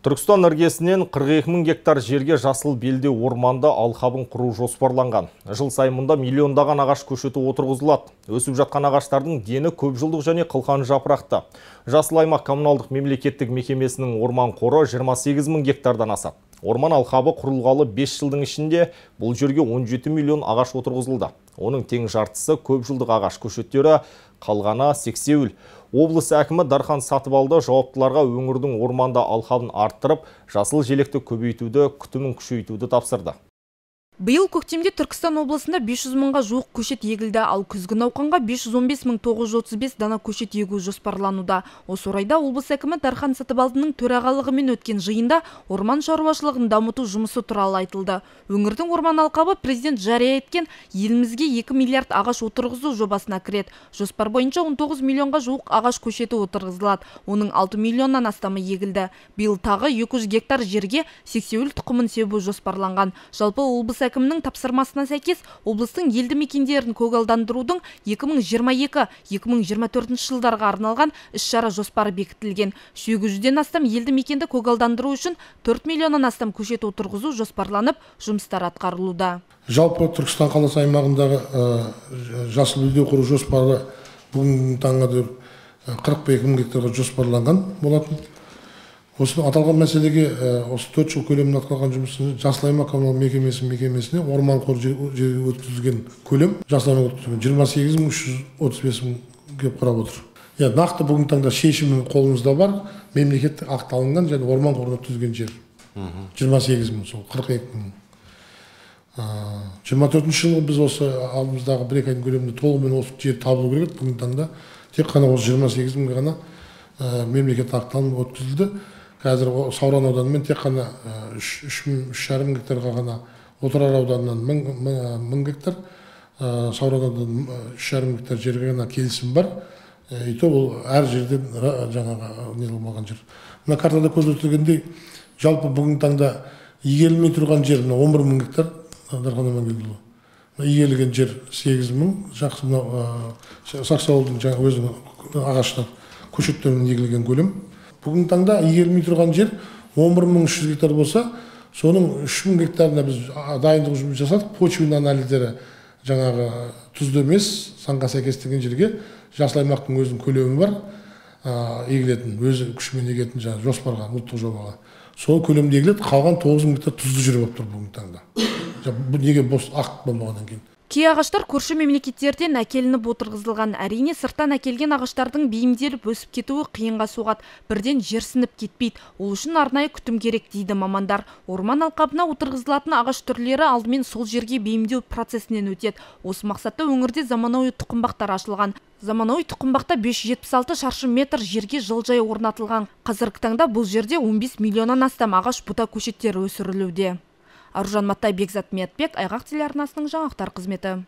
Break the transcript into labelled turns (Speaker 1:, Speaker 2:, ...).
Speaker 1: Түркістан іргесінен 42 мың гектар жерге жасыл белдеу орманды алқабын құру жоспарланған. Жыл сайын мұнда миллиондаған ағаш көшеті отырғызылады. Өсіп жатқан ағаштардың дені көп жылдық және қылқан жапырақты. Жасыл аймақ коммуналдық мемлекеттік мекемесінің орман қоры 28 мың гектардан асады. Орман алқабы құрылғалы 5 жылдың ішінде бұл жерге 17 миллион ағаш отырғызылды. Оның тең жартысы көп жылдық ағаш көшеттері, қалғаны сексеуіл. Облыс әкімі Дархан Сатыбалды жауаптыларға өңірдің орманда алқабын арттырып, жасыл желекті көбейтуді, күтімін күшейтуді тапсырды.
Speaker 2: Биыл көктемде Түркістан облысында 500 мыңға жуық көшет егілді, ал күзгі науқанға 515 мың 935 дана көшет егу жоспарлануда. Осы орайда облыс әкімі Дархан Сатыбалдының төрағалығымен өткен жиында орман шаруашылығын дамыту жұмысы туралы айтылды. Өңірдің орман алқабы президент жария еткен елімізге 2 миллиард ағаш отырғызу жобасына кіреді. Жоспар бойынша 19 миллионға жуық ағаш көшеті отырғызылады. Оның 6 миллионнан астамы егілді. Биыл тағы 200 гектар жерге сексеуіл тұқымын себу жоспарланған. Жалпы облыс әкімнің тапсырмасына сәйкес облыстың елді мекендерін көгалдандырудың 2022-2024 жылдарға арналған іс-шара жоспары бекітілген. 800-ден астам елді мекенді көгалдандыру үшін 4 миллионнан астам көшет отырғызу жоспарланып, жұмыстар атқарылуда.
Speaker 3: Жалпы Түркістан қаласы аймағындағы жасыл белдеу құру жоспары бүгінгі таңға дейін 42 мың гектарға жоспарланған болатын. Осы аталған мәселеге осы 4 жыл көлемін атқарған жұмысын жасыл аймақ коммуналдық мекемесіне орман қоры өткізілген көлем жасыл аймақ өткізілген 28 мың 335 мың құрап отыр. Нақты бүгінгі таңда шешімі қолымызда бар, мемлекеттік акт алынған және орман қоры өткізілген жер 28 мың, сол 42 мың. 24 жылы біз осы алдымыздағы 1-2 айдың көлемінде толығымен осы жер табылу керек. Бүгінгі таңда тек қана осы 28 мың ғана мемлекеттік акт алынып өткізілді. Қазір Сауран ауданымен тек қана 3,5 гектарға ғана, Отырар ауданынан 1000 гектар, Сауран ауданынан 3,5 гектар жерге ғана келісім бар. И то ол әр жерден жаңағы нелмаған жер. Мына картада көрсетілгендей, жалпы бүгінгі таңда игерілмей тұрған жер 11 мың гектар Дархан Амангелдіұлы. Игерілген жер 8 мың, жақсы Сақсауылдың жаңа өзінің ағаштар көшеттерінен егілген көлем. Бүгінгі таңда игерілмей тұрған жер 11.300 гектар болса, соның 3.000 гектарына біз дайындық жұмыс жасадық. Почвенный анализдері жаңағы тұзды емес, заңға сәйкестеген жерге жасыл аймақтың өзінің көлемі бар, егілетін, өзі күшімен егетін жаңағы жоспарға, ұлттық жобаға. Сол көлемде егіледі, қалған 9.000 гектар тұзды жер болып тұр бүгінгі таңда. Неге бос ақт болмағаннан кейін.
Speaker 2: Кей ағаштар көрші мемлекеттерден әкелініп отырғызылған. Әрине сырттан әкелген ағаштардың бейімделіп өсіп кетуі қиынға соғады. Бірден жерсініп кетпейді. Ол үшін арнайы күтім керек дейді мамандар. Орман алқабына отырғызылатын ағаш түрлері алдымен сол жерге бейімдеу процесінен өтеді. Осы мақсатта өңірде заманауи тұқымбақтар ашылған. Заманауи тұқымбақта 576 шаршы метр жерге жылжай орнатылған. Қазіргі таңда бұл жерде 15 миллионнан астам ағаш бұта көшеттері өсірілуде. Аружан Матай, Бекзат Медбек, Айғақ телеарнасының жаңалықтар қызметі.